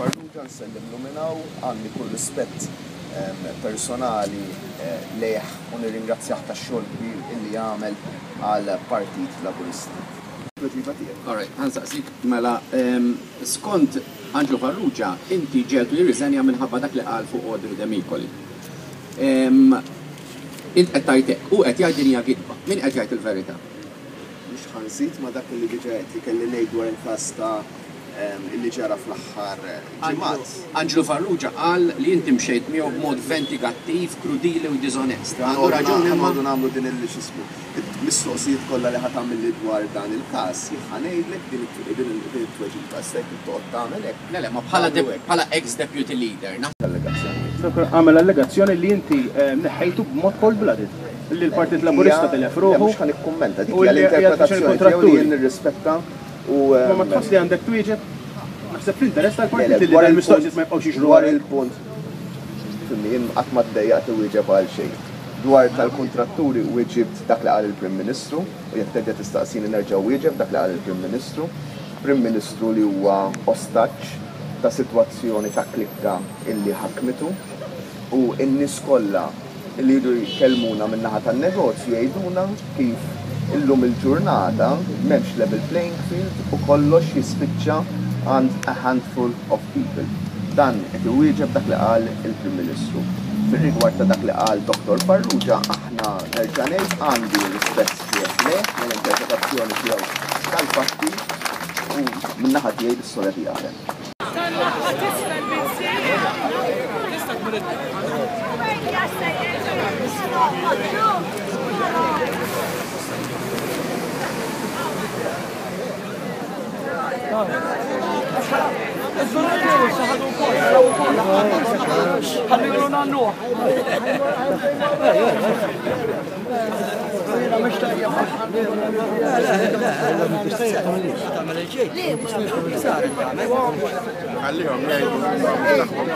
Farrugia nsellimlu minn hawn, għandi kull rispett personali lejh u nirringrazzjah tax-xogħol kbir illi għamel għall-Partit Laburista. Tweġiba tiegħek. All right, ħa nsaqsik mela skont Anġlu Farrugia inti ġegħeltu jirriżenja minħabba dak li qal fuq Audrey Demicoli. Int qed tgħid hekk, hu qed jgħid din hija gidba. Min qed jgħid il-verità? Mhux ħa nżid ma' dak li diġà għedt li kelli ngħid dwar il-każ ta' li ġara fl-aħħar ġimgħat. Anġlu Farrugia qal li inti mxejt miegħu b'mod ventigattiv, krudili u diżonest. Għandu raġun imma? Ħa noqogħdu nagħmlu din il x'ismu. Il-mistoqsijiet kollha li ħa tagħmilli dwar dan il-każ, jien ħa ngħidlek din it-tweġiba. Issa jekk toqgħod tagħmel hekk. Le, le, ma bħala ex deputy leader. Allegazzjonijiet. Għamel allegazzjoni li inti neħħejtu b'mod cold blooded. Li l-Partit Laburista tilef ruħu. Mhux ħa nikkummenta, dik hija l-interpretazzjoni tiegħu li jien nirrispetta u. Ma ma tħoss li għandek twieġeb? Naħseb fl-interess tal-partit li dawn il-mistoqsijiet ma jibqgħux jiġru. Dwar il-punt, fimni, jien qatt ma ddejjaqt iwieġeb għal xejn. Dwar tal-kuntratturi wieġibt dak li qal il-Prim Ministru u jekk terġa' tistaqsini nerġa' wieġeb dak li qal il-Prim Ministru. Prim Ministru li huwa ostaġġ ta' sitwazzjoni ta' klikka illi ħakmitu u n-nies kollha li jridu jkellmuna min-naħa tan-negozju jgħiduna kif illum il-ġurnata m'hemmx level playing field u kollox jispiċċa għand a handful of people. Dan qed iwieġeb dak li qal il-Prim Ministru. Fir-rigward ta' dak li qal Dottor Farrugia, aħna nerġa' ngħid għandi rispett sħiħ lejh, lejn l-interpretazzjoni tiegħu tal-fatti u min-naħa tiegħi l-istorja tiegħek hemm. Ħallihom jgħidu tagħhom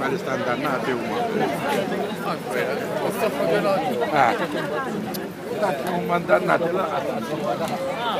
Għal-istandannati huma. Dak huma ndannati laqgħa.